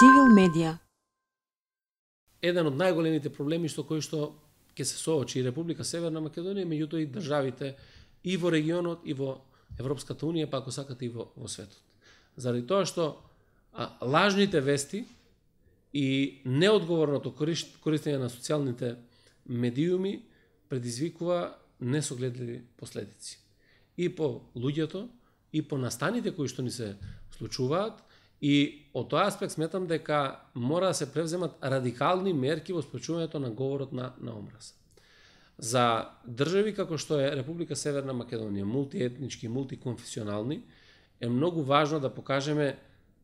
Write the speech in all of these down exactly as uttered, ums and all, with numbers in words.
Цивил медија. Еден од најголемите проблеми што кои што ќе се соочи и Република Северна Македонија, меѓутоа и државите и во регионот и во Европската унија, па ако сакате и во, во светот. Заради тоа што а, лажните вести и неодговорното користење на социјалните медиуми предизвикува несогледливи последици. И по луѓето, и по настаните кои што ни се случуваат, и од тој аспект сметам дека мора да се превземат радикални мерки во спречувањето на говорот на, на омраза. За држави како што е Република Северна Македонија, мултиетнички, мултиконфесионални, е многу важно да покажеме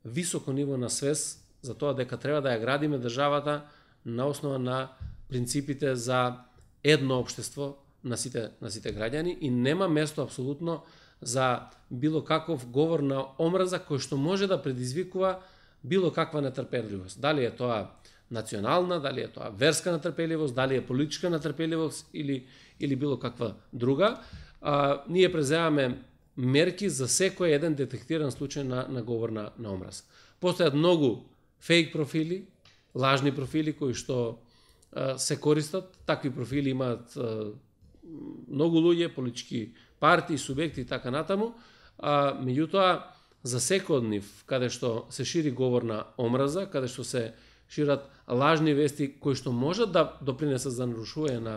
високо ниво на свест за тоа дека треба да ја градиме државата на основа на принципите за едно општество на сите, на сите граѓани и нема место апсолутно за било каков говор на омраза кој што може да предизвикува било каква нетрпеливост. Дали е тоа национална, дали е тоа верска нетрпеливост, дали е политичка нетрпеливост или, или било каква друга. А, ние преземаме мерки за секој еден детектиран случај на, на говор на, на омраза. Постојат многу фейк профили, лажни профили кои што а, се користат. Такви профили имаат а, многу луѓе, политички партии, субјекти и така натаму, а, меѓутоа за секој од нив, каде што се шири говор на омраза, каде што се шират лажни вести кои што можат да допринесат за нарушување на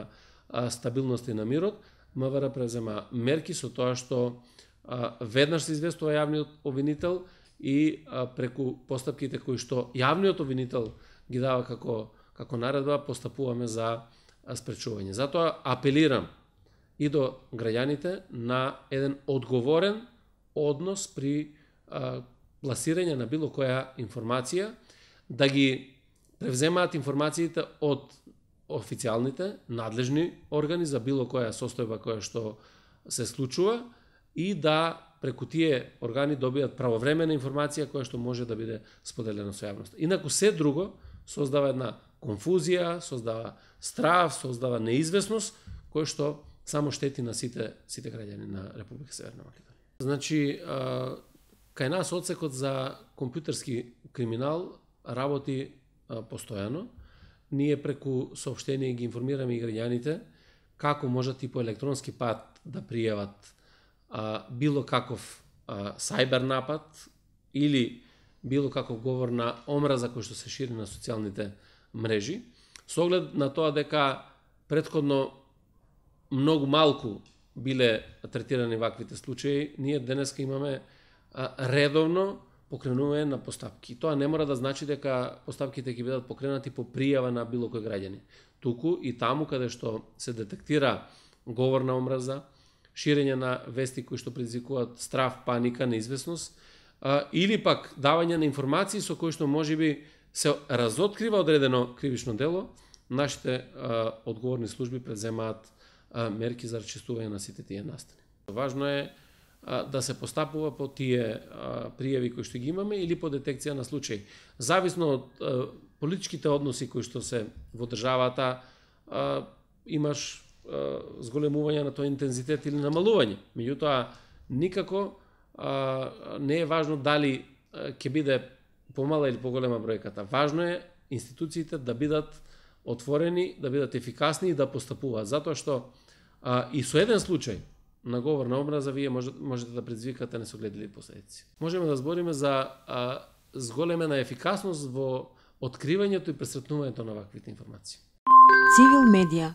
а, стабилност и на мирот, МВР презема мерки со тоа што а, веднаш се известува јавниот обвинител и а, преку постапките кои што јавниот обвинител ги дава како, како наредба, постапуваме за а, спречување. Затоа апелирам и до граѓаните на еден одговорен однос при а, пласирање на било која информација, да ги превземаат информациите од официјалните, надлежни органи за било која состојба која што се случува и да преку тие органи добијат правовремена информација која што може да биде споделена со јавноста. Инаку се друго создава една конфузија, создава страв, создава неизвестност која што само штети на сите сите граѓани на Република Северна Македонија. Значи, а, кај нас одсекот за компјутерски криминал работи а, постојано. Ние преку соопштение ги информираме и граѓаните како можат и по електронски пат да пријават а, било каков а, сајбер напад или било каков говор на омраза кој што се шири на социјалните мрежи, со оглед на тоа дека претходно многу малку биле третирани ваквите случаи, ние денеска имаме а, редовно покренување на постапки. Тоа не мора да значи дека постапките ќе бидат покренати по пријава на било кој граѓани. Туку и таму каде што се детектира говор на омраза, ширење на вести кои што предизвикуваат страв, паника, неизвестност, а, или пак давање на информации со кои што можеби се разоткрива одредено кривично дело, нашите а, одговорни служби преземаат а, мерки за расчистување на сите тие настани. Важно е а, да се постапува по тие а, пријави кои што ги имаме или по детекција на случаи. Зависно од а, политичките односи кои што се во државата, а, имаш а, зголемување на тој интензитет или намалување. Меѓутоа, никако а, не е важно дали ќе биде помала или поголема бројката. Важно е институциите да бидат отворени, да бидат ефикасни и да постапуваат. Затоа што а, и со еден случај на говор на омраза вие можете, можете да предизвикате несогледливи последици. Можеме да збориме за а, зголемена ефикасност во откривањето и пресретнувањето на ваквите информации. Цивил медија.